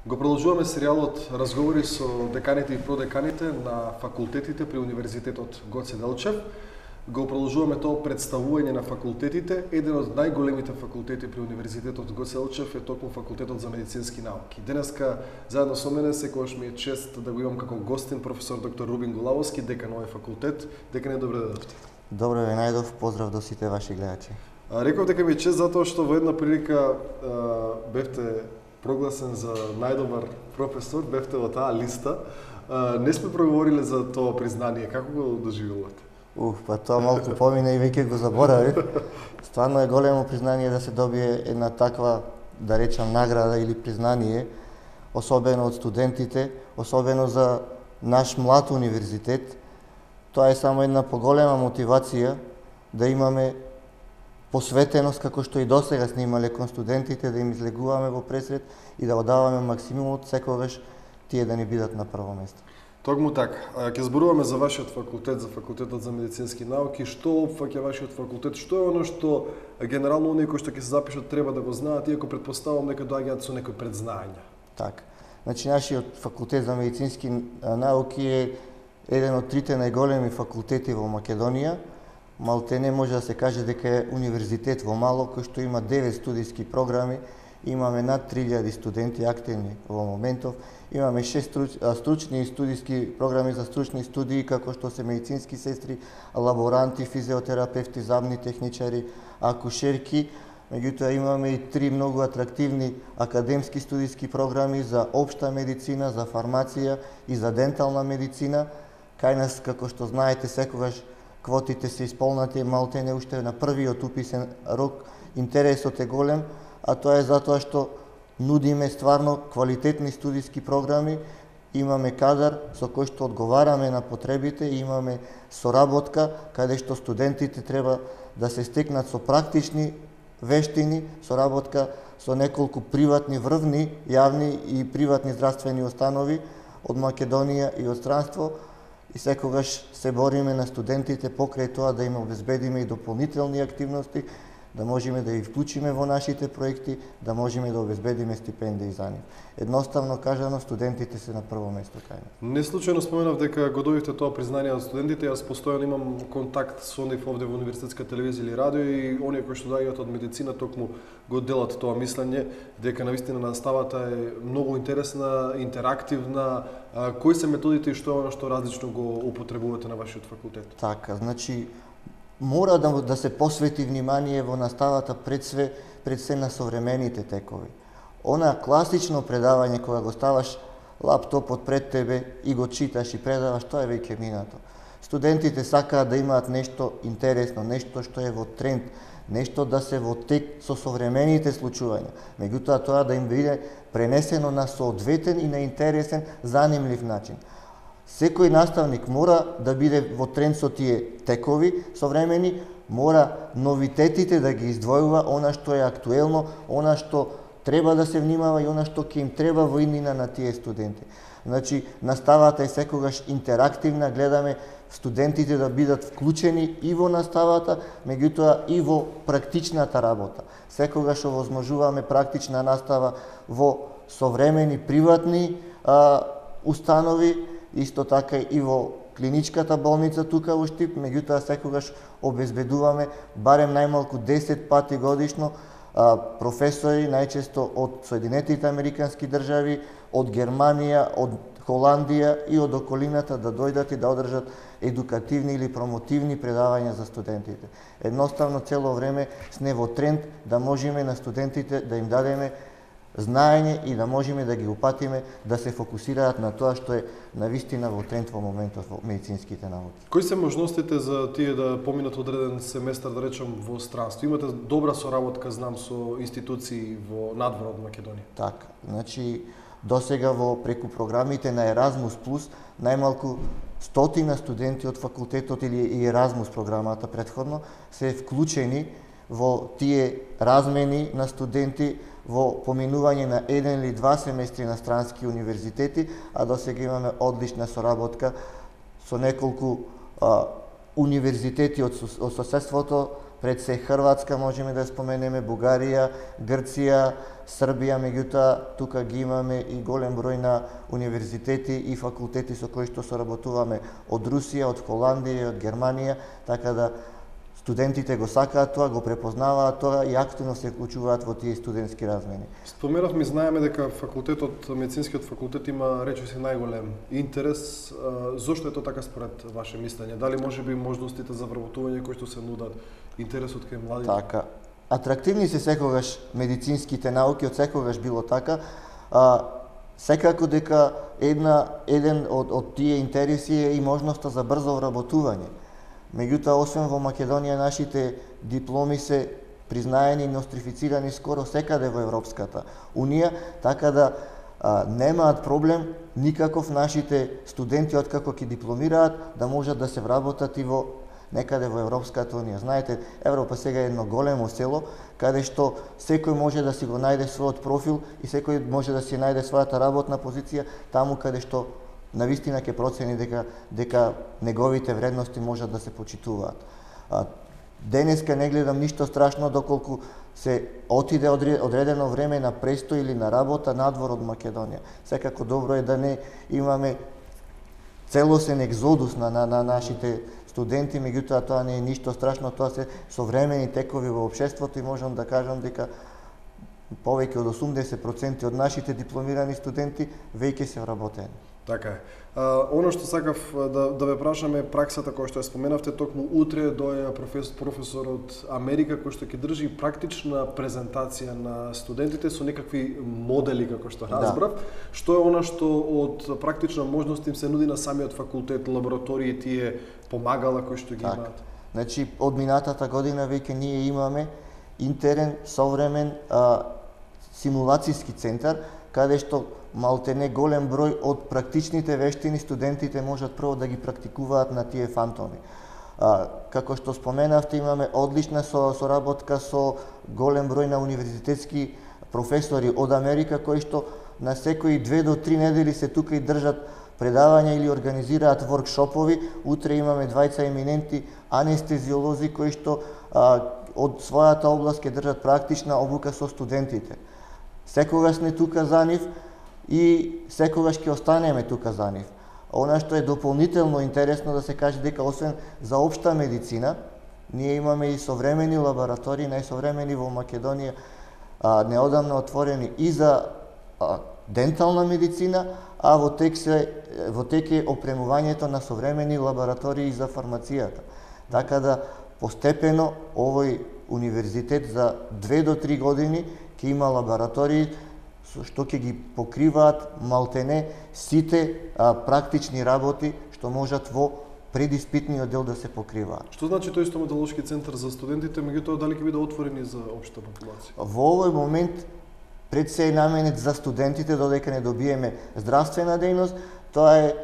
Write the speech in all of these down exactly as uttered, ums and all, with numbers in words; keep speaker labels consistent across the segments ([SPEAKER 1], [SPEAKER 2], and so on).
[SPEAKER 1] Го продолжуваме серијалот разговори со деканите и продеканите на факултетите при Универзитетот Гоце Делчев. Го продолжуваме тоа представување на факултетите. Еден од најголемите факултети при Универзитетот Гоце Делчев е токму Факултетот за медицински науки. Денеска заедно со мене секогаш ми е чест да го имам како гостин професор доктор Рубин Голавовски, декан овој факултет. Декане, добре дојдовте.
[SPEAKER 2] Добро ве најдов, поздрав до сите ваши гледачи.
[SPEAKER 1] Реков дека ми е чест затоа што во една прилика а, бевте прогласен за најдобар професор, бевте во таа листа. А, не сме проговориле за тоа признание. Како го доживувате?
[SPEAKER 2] Уф, па тоа малку помина и веќе го заборавив. Стварно е големо признание да се добие една таква, да речам, награда или признание, особено од студентите, особено за наш млад универзитет. Тоа е само една поголема мотивација да имаме посветеност, како што и досега сме имале кон студентите, да им излегуваме во пресред и да одаваме максимумот секогаш тие да ни бидат на прво место.
[SPEAKER 1] Токму така. Ќе зборуваме за вашиот факултет, за Факултетот за медицински науки. Што опфаќа вашиот факултет? Што е оно што генерално оние кои што ќе се запишат треба да го знаат, иако предпоставувам дека доаѓаат со некои предзнаења?
[SPEAKER 2] Така. Значи, нашиот Факултет за медицински науки е еден од трите најголеми факултети во Македонија. Малтене може да се каже дека е универзитет во мало, кој што има девет студиски програми, имаме над три илјади студенти активни во моментов, имаме шест стручни и студиски програми за стручни студии, како што се медицински сестри, лаборанти, физиотерапевти, забни техничари, акушерки. Меѓутоа имаме и три многу атрактивни академски студиски програми за општа медицина, за фармација и за дентална медицина. Кај нас, како што знаете, секогаш квотите се исполнати, малтене уште на првиот уписен рок. Интересот е голем, а тоа е затоа што нудиме стварно квалитетни студиски програми, имаме кадар со кој што одговараме на потребите и имаме соработка каде што студентите треба да се стекнат со практични вештини, соработка со неколку приватни врвни, јавни и приватни здравствени установи од Македонија и од странство. И секогаш се бориме на студентите покрај тоа да им обезбедиме и дополнителни активности, да можеме да ги вклучиме во нашите проекти, да можеме да обезбедиме стипендии за нив. Едноставно кажано, студентите се на прво место кај нас.
[SPEAKER 1] Не случајно споменав дека го добивте тоа признание од студентите. Јас постојано имам контакт со нив овде во Универзитетска телевизија или радио и оние кои што доаѓаат од медицина токму го делат тоа мислење дека навистина наставата е многу интересна, интерактивна. Кои се методите и што е оно што различно го употребувате на вашиот факултет?
[SPEAKER 2] Така, значи мора да, да се посвети внимание во наставата пред све, пред се на современите текови. Она класично предавање кога го ставаш лаптопот пред тебе и го читаш и предаваш, тоа е веќе минато. Студентите сакаат да имаат нешто интересно, нешто што е во тренд, нешто да се во тек со современите случувања. Меѓутоа тоа да им биде пренесено на соодветен и на интересен, занимлив начин. Секој наставник мора да биде во тренд со тие текови современи, мора новитетите да ги издвојува, она што е актуелно, она што треба да се внимава и она што ќе им треба во иднина на тие студенти. Значи, наставата е секогаш интерактивна, гледаме студентите да бидат вклучени и во наставата, меѓутоа и во практичната работа. Секогаш овозможуваме практична настава во современи приватни а, установи, исто така и во клиничката болница тука во Штип, меѓутоа секогаш обезбедуваме барем најмалку десет пати годишно а, професори, најчесто од Соединетите Американски држави, од Германија, од Холандија и од околината да дојдат и да одржат едукативни или промотивни предавања за студентите. Едноставно цело време сме во тренд да можеме на студентите да им дадеме знаење и да можеме да ги упатиме да се фокусираат на тоа што е навистина во тренд во моментот во медицинските науки.
[SPEAKER 1] Кои се можностите за тие да поминат одреден семестар, да речем, во странство? Имате добра соработка, знам, со институции во надвор од Македонија?
[SPEAKER 2] Така, значи досега во преку програмите на Еразмус плюс најмалку стотина студенти од факултетот или и Еразмус програмата претходно се вклучени во тие размени на студенти во поминување на еден или два семестри на странски универзитети, а досега имаме одлична соработка со неколку а, универзитети од, од соседството, пред се Хрватска можеме да споменеме, Бугарија, Грција, Србија, меѓутоа тука ги имаме и голем број на универзитети и факултети со кои што соработуваме од Русија, од Холандија, од Германија, така да студентите го сакаат тоа, го препознаваат тоа и активно се вклучуваат во тие студентски размени.
[SPEAKER 1] Споменавме, знаеме дека факултетот, медицинскиот факултет има речиси најголем интерес. Зошто е тоа така според ваше мислење? Дали можеби можностите за вработување кои што се нудат, интересот кај младите?
[SPEAKER 2] Така. Атрактивни се секогаш медицинските науки, од секогаш било така. А, секако дека една еден од од тие интереси е и можноста за брзо вработување. Меѓутоа, освен во Македонија, нашите дипломи се признаени и нострифицирани скоро секаде во Европската Унија, така да а, немаат проблем никаков нашите студенти откако ќе дипломираат да можат да се вработат и во некаде во Европската Унија. Знаете, Европа сега е едно големо село, каде што секој може да си го најде својот профил и секој може да си најде својата работна позиција таму каде што навистина ќе процени дека дека неговите вредности можат да се почитуваат. А, денеска не гледам ништо страшно доколку се отиде одредено време на престој или на работа надвор од Македонија. Секако добро е да не имаме целосен екзодус на, на, на нашите студенти, меѓутоа тоа не е ништо страшно, тоа се современи текови во општеството и можам да кажам дека повеќе од осумдесет проценти од нашите дипломирани студенти веќе се вработени.
[SPEAKER 1] Така е. А, оно што сакав да, да ве прашаме, праксата која што ја споменавте, токму утре доја професор, професор од Америка кој што ќе држи практична презентација на студентите со некакви модели, како што разбрав. Да. Што е она што од практична можност им се нуди на самиот факултет, лаборатории, тие помагала кои што ги
[SPEAKER 2] так.
[SPEAKER 1] имаат?
[SPEAKER 2] Значи, од минатата година веќе ние имаме интерен, современ а, симулацијски центар, каде што малтене голем број од практичните вештини студентите можат прво да ги практикуваат на тие фантоми. А, како што споменавте, имаме одлична со, соработка со голем број на универзитетски професори од Америка, кои што на секои две до три недели се тука и држат предавања или организираат воркшопови. Утре имаме двајца еминенти анестезиолози кои што а, од својата област ќе држат практична обука со студентите. Секогаш сме тука за нив и секогаш ќе останеме тука за нив. Она што е дополнително интересно да се каже дека освен за општа медицина, ние имаме и современи лаборатории, најсовремени во Македонија, а, неодамно отворени и за а, дентална медицина, а во тек се во тек е опремувањето на современи лаборатории за фармацијата. Така да постепено овој универзитет за две до три години ќе има лаборатории што ќе ги покриваат малтене сите а, практични работи што можат во предиспитниот дел да се покриваат.
[SPEAKER 1] Што значи тој стоматолошки центар за студентите, меѓутоа дали ќе биде отворени за општа популација?
[SPEAKER 2] Во овој момент пред се е наменет за студентите, додека не добиеме здравствена дејност. Тоа е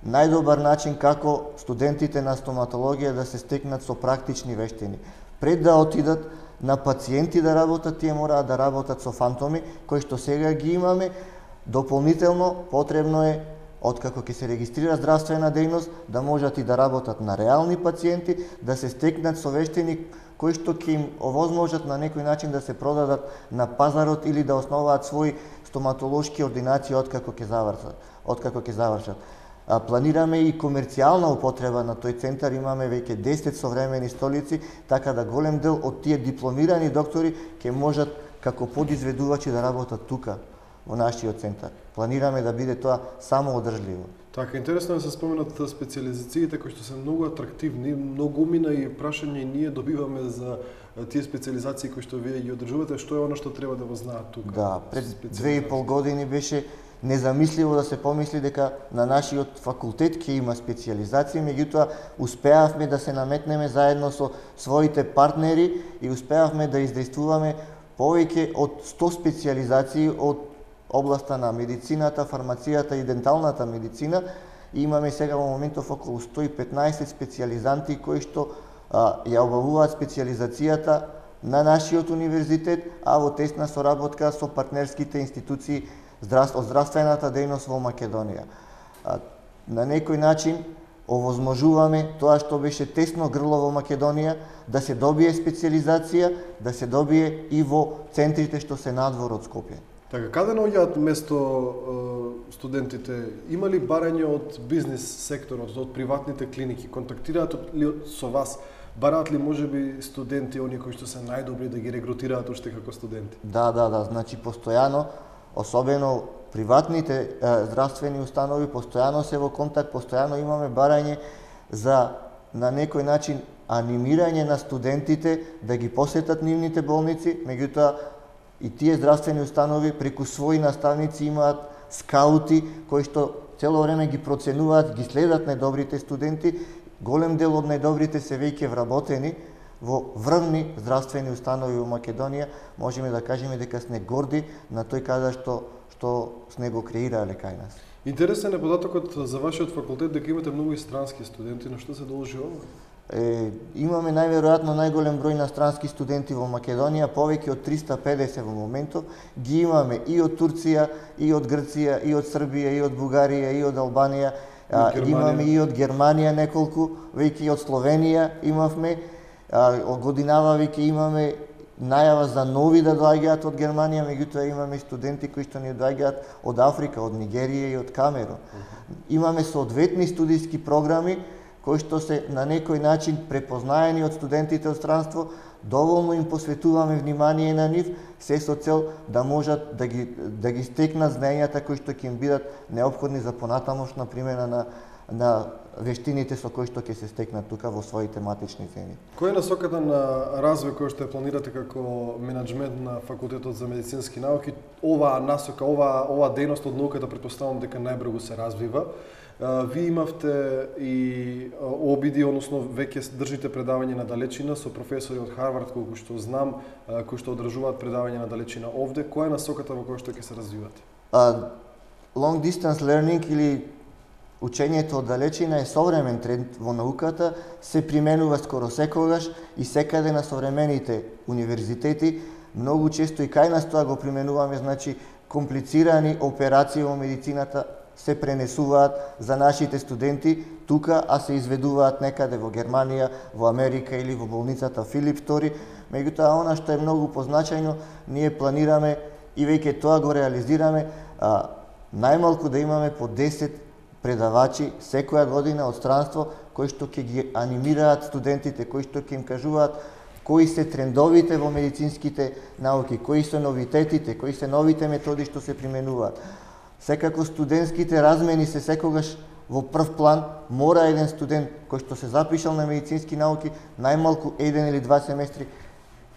[SPEAKER 2] најдобар начин како студентите на стоматологија да се стекнат со практични вештини. Пред да отидат на пациенти да работат, тие мораат да работат со фантоми, кои што сега ги имаме. Дополнително потребно е, откако ќе се регистрира здравствена дејност, да можат и да работат на реални пациенти, да се стекнат со вештини кои што ќе им овозможат на некој начин да се продадат на пазарот или да основаат своји стоматолошки ординации откако ќе завршат. Откако ќе завршат. А, планираме и комерцијална употреба на тој центар, имаме веќе десет современи столици, така да голем дел од тие дипломирани доктори ќе можат како подизведувачи да работат тука во нашиот центар. Планираме да биде тоа само одржливо.
[SPEAKER 1] Така, интересно е да се споменат специализациите кои што се многу атрактивни, многу мина и прашање и ние добиваме за тие специализации кои што вие ги одржувате, што е она што треба да го знаат тука?
[SPEAKER 2] Да, пред две и пол години беше незамисливо да се помисли дека на нашиот факултет ќе има специализации, меѓутоа успеавме да се наметнеме заедно со своите партнери и успеавме да издействуваме повеќе од сто специализации од областа на медицината, фармацијата и денталната медицина. И имаме сега во моментов околу сто и петнаесет специализанти кои што а, ја обавуваат специализацијата на нашиот универзитет, а во тесна соработка со партнерските институции од здравствената дејност во Македонија. А, на некој начин овозможуваме тоа што беше тесно грло во Македонија, да се добие специализација, да се добие и во центрите што се надвор од Скопје.
[SPEAKER 1] Така, каде наоѓаат место е, студентите? Има ли барање од бизнис секторот, од приватните клиники? Контактираат ли со вас? Бараат ли можеби студенти, оние кои што се најдобри да ги регрутираат уште како студенти?
[SPEAKER 2] Да, да, да, значи постојано, особено приватните е, здравствени установи, постојано се во контакт, постојано имаме барање за на некој начин анимирање на студентите да ги посетат нивните болници, меѓутоа и тие здравствени установи преку своји наставници имаат скаути кои што цело време ги проценуваат, ги следат најдобрите студенти. Голем дел од најдобрите се веќе вработени во врвни здравствени установи во Македонија. Можеме да кажеме дека сме горди на тој каде што што сме го креирале кај нас.
[SPEAKER 1] Интересен е податокот за вашиот факултет дека имате многу и странски студенти, на што се должи ова?
[SPEAKER 2] Е, имаме најверојатно најголем број на странски студенти во Македонија, повеќе од триста педесет во моментов. Ги имаме и од Турција, и од Грција, и од Србија, и од Бугарија, и од Албанија. А, имаме и од Германија неколку, веќе и од Словенија имавме. А, годинава веќе имаме најава за нови да доаѓаат од Германија, меѓутоа имаме студенти кои што ни доаѓаат од Африка, од Нигерија и од Камерун. Имаме соодветни студиски програми кои што се на некој начин препознаени од студентите од странство, доволно им посветуваме внимание на нив, се со цел да можат да ги, да ги стекнат знаењата кои што ќе им бидат неопходни за понатамошна примена на, на вештините со кои што ќе се стекнат тука во своите матични земји.
[SPEAKER 1] Која е насоката на развој кој што ја планирате како менаџмент на Факултетот за медицински науки? Оваа насока, оваа ова дејност од науката претпоставувам дека најбрзо се развива. Ви имавте и обиди, односно веќе држите предавање на далечина со професори од Харвард, колку што знам, кои што одржуваат предавање на далечина овде. Која е насоката во која што ќе се развивате?
[SPEAKER 2] Uh, long distance learning или учењето од далечина е современ тренд во науката, се применува скоро секогаш и секаде на современите универзитети. Многу често и кај нас тоа го применуваме, значи комплицирани операции во медицината се пренесуваат за нашите студенти тука, а се изведуваат некаде во Германија, во Америка или во болницата Филип втори. Меѓутоа, она што е многу позначајно, ние планираме и веќе тоа го реализираме, а, најмалку да имаме по десет предавачи секоја година од странство кои што ќе ги анимираат студентите, кои што ќе им кажуваат кои се трендовите во медицинските науки, кои се новитетите, кои се новите методи што се применуваат. Секако студентските размени се секогаш во прв план. Мора еден студент кој што се запишал на медицински науки најмалку еден или два семестри,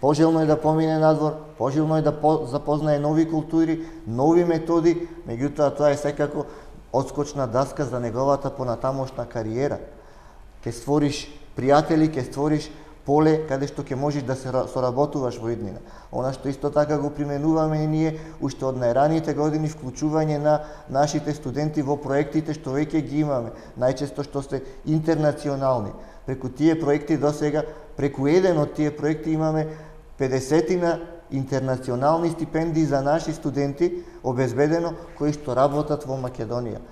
[SPEAKER 2] пожелно е да помине надвор, пожелно е да запознае нови култури, нови методи, меѓутоа тоа е секако одскочна даска за неговата понатамошна кариера. Ке створиш пријатели, ке створиш поле каде што ќе можеш да се соработуваш во иднина. Она што исто така го применуваме и ние уште од најраните години, вклучување на нашите студенти во проектите што веќе ги имаме, најчесто што се интернационални. Преку тие проекти досега, преку еден од тие проекти имаме педесетина интернационални стипендии за наши студенти обезбедено кои што работат во Македонија.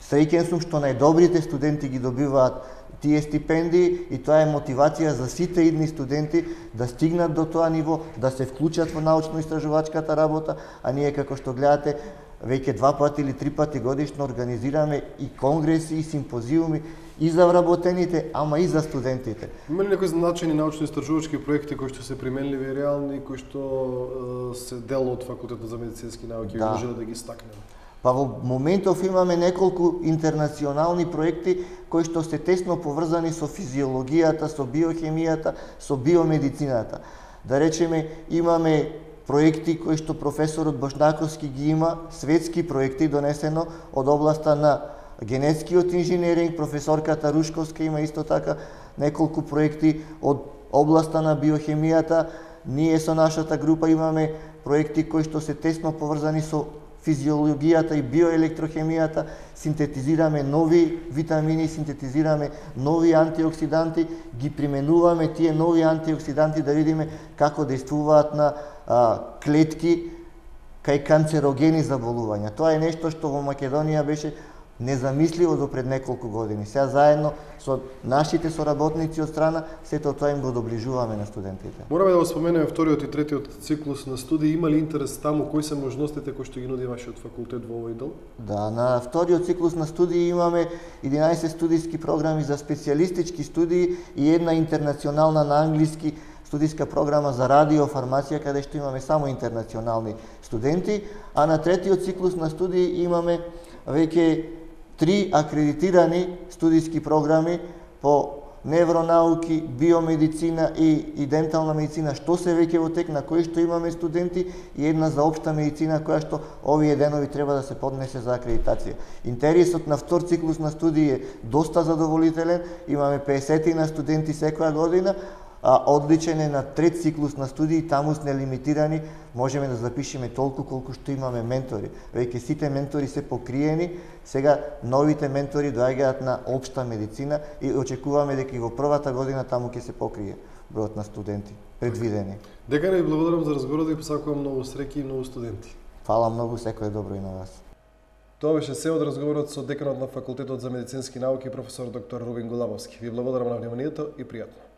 [SPEAKER 2] Среќен сум што најдобрите студенти ги добиваат тие стипендии и тоа е мотивација за сите идни студенти да стигнат до тоа ниво, да се вклучат во научно-истражувачката работа, а ние како што гледате веќе два пати или три пати годишно организираме и конгреси и симпозиуми и за вработените, ама и за студентите.
[SPEAKER 1] Има ли некои значајни научно-истражувачки проекти кои што се применливи и реални, кои што е, се дел од Факултетот за медицински науки, да. Може да ги стакнеме?
[SPEAKER 2] Па во моментов имаме неколку интернационални проекти кои што се тесно поврзани со физиологијата, со биохемијата, со биомедицината. Да речеме, имаме проекти кои што професорот Бошнаковски ги има, светски проекти донесено од областа на генетскиот инженеринг, професорката Рушковска има исто така неколку проекти од областа на биохемијата. Ние со нашата група имаме проекти кои што се тесно поврзани со физиологијата и биоелектрохемијата, синтетизираме нови витамини, синтетизираме нови антиоксиданти, ги применуваме тие нови антиоксиданти да видиме како действуваат на а, клетки кај канцерогени заболувања. Тоа е нешто што во Македонија беше незамисливо до пред неколку години. Сега заедно со нашите соработници од страна, сето тоа им го доближуваме на студентите.
[SPEAKER 1] Мораме да го споменеме вториот и третиот циклус на студии. Има ли интерес таму? Кои се можностите кои што ги нуди вашиот факултет во овој дел?
[SPEAKER 2] Да, на вториот циклус на студии имаме единаесет студиски програми за специјалистички студии и една интернационална на англиски студиска програма за радиофармација, каде што имаме само интернационални студенти, а на третиот циклус на студии имаме веќе три акредитирани студиски програми по невронауки, биомедицина и, и дентална медицина, што се веќе во тек, на кои што имаме студенти, и една за општа медицина, која што овие денови треба да се поднесе за акредитација. Интересот на втор циклус на студии е доста задоволителен, имаме песет на студенти секоја година, а одличен е на трет циклус на студии, таму сме лимитирани, можеме да запишеме толку колку што имаме ментори. Веќе сите ментори се покриени, сега новите ментори доаѓаат на општа медицина и очекуваме дека и во првата година таму ќе се покрие бројот на студенти предвидени.
[SPEAKER 1] Декане, ви благодарам за разговорот и посакувам многу среќи и многу студенти.
[SPEAKER 2] Фала многу, секое добро и на вас.
[SPEAKER 1] Тоа беше се од разговорот со деканот на Факултетот за медицински науки професор доктор Рубин Голабовски. Ви благодарам на вниманието и пријатно.